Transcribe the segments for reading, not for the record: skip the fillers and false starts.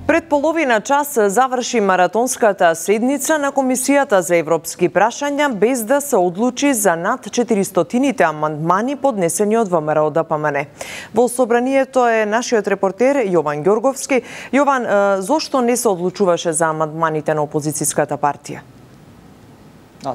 Пред половина час заврши маратонската седница на Комисијата за европски прашања без да се одлучи за над 400-тините амандмани поднесени од ВМРО-ДПМН. Во собранието е нашиот репортер Јован Ѓорговски. Јован, зошто не се одлучуваше за амандманите на опозицијската партија?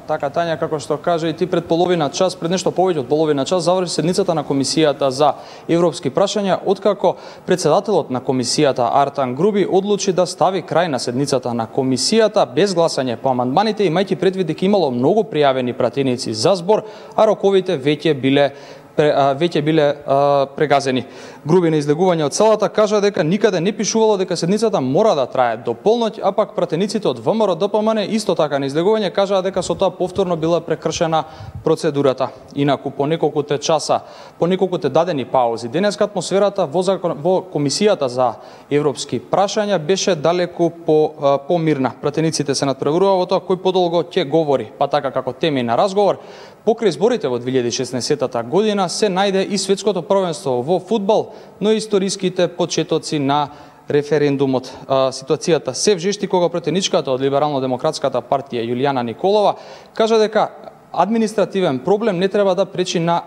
Така, Тања, како што кажа и ти, пред половина час, пред нешто повеќе од половина час, заврши седницата на Комисијата за европски прашања, откако председателот на Комисијата Артан Груби одлучи да стави крај на седницата на Комисијата без гласање по амандманите, имајќи предвид дека имало многу пријавени пратеници за збор, а роковите веќе биле прегазени. Груби на излегување од салата кажа дека никаде не пишувало дека седницата мора да трае до полноќ, а пак пратениците од ВМРО-ДПМН исто така на излегување кажаа дека со тоа повторно била прекршена процедурата. Инаку по неколкуте часа, по неколкуте дадени паузи, денеска атмосферата во Комисијата за европски прашања беше далеку помирна. Пратениците се надпреварува во тоа кој подолго ќе говори, па така како теми на разговор. Покрај изборите во 2016 година се најде и светското првенство во фудбал, но и историските почетоци на референдумот. Ситуацијата се вжешти кога пратеничката од Либерално-демократската партија Јулијана Николова кажа дека административен проблем не треба да пречи на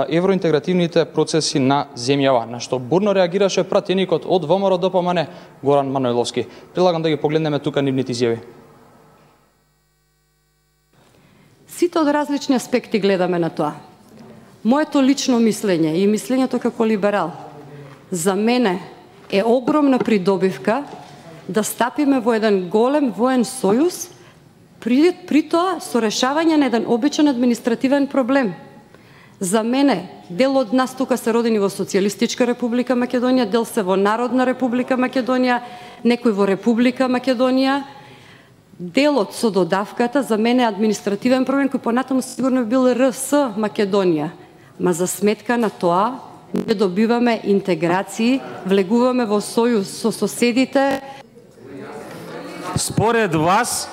евроинтегративните процеси на земјава, на што бурно реагираше пратеникот од ВМРО-ДПМН Горан Манојловски. Предлагам да ги погледнеме тука нивните изјави. Сите од различни аспекти гледаме на тоа. Моето лично мислење и мислењето како либерал за мене е огромна придобивка да стапиме во еден голем воен сојуз, при тоа со решавање на еден обичен административен проблем. За мене, дел од нас тука се родени во Социјалистичка република Македонија, дел се во Народна република Македонија, некој во Република Македонија. Делот со додавката за мене е административен проблем кој понатаму сигурно бил РС Македонија. Ма за сметка на тоа не добиваме интеграции, влегуваме во сојуз со соседите. Според вас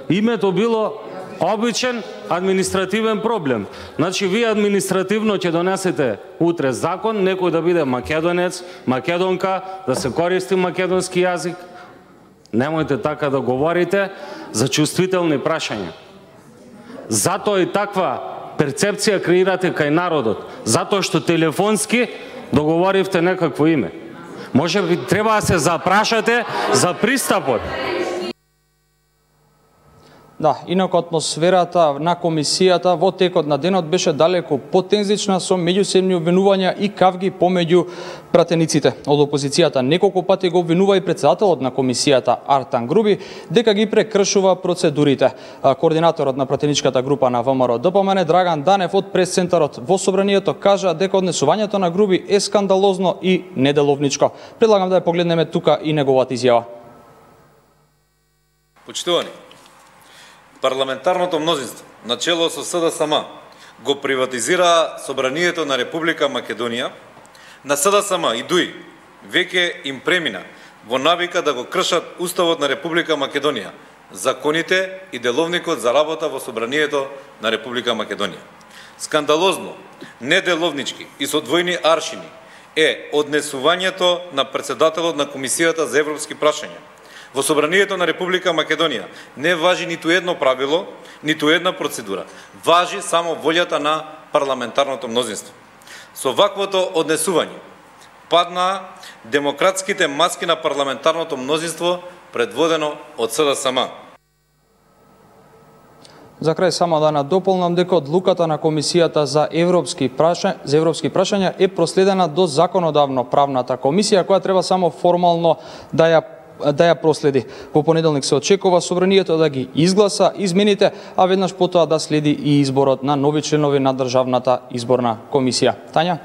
името било обичен административен проблем. Значи вие административно ќе донесете утре закон, некој да биде македонец, македонка, да се користи македонски јазик. Немојте така да говорите за чувствителни прашања. Затоа и таква перцепција креирате кај народот. Затоа што телефонски договоривте некакво име. Може би треба да се запрашате за пристапот. Да, инаку атмосферата на комисијата во текот на денот беше далеку потензична со меѓусебни обвинувања и кавги помеѓу пратениците од опозицијата. Неколку пати го обвинува и председателот на комисијата Артан Груби дека ги прекршува процедурите. Координаторот на пратеничката група на ВМРО-ДПМН Драган Данев од пресцентарот во собранието кажа дека однесувањето на Груби е скандалозно и неделовничко. Предлагам да ја погледнеме тука и неговата изјава. Почитувани, парламентарното мнозинство, начело со СДСМ, го приватизира собранието на Република Македонија. На СДСМ и ДУИ веќе им премина во навика да го кршат Уставот на Република Македонија, законите и деловникот за работа во собранието на Република Македонија. Скандалозно, неделовнички и со двојни аршини е однесувањето на председателот на Комисијата за европски прашања. Во собранието на Република Македонија не важи ниту едно правило, ниту една процедура. Важи само волјата на парламентарното мнозинство. Со ваквото однесување падна демократските маски на парламентарното мнозинство предводено од СДСМ. За крај само да надополнам дека одлуката на Комисијата за европски прашања е проследена до законодавно-правната комисија, која треба само формално да ја проследи. Во понеделник се очекува собранието да ги изгласа измените, а веднаш потоа да следи и изборот на нови членови на Државната изборна комисија. Тања?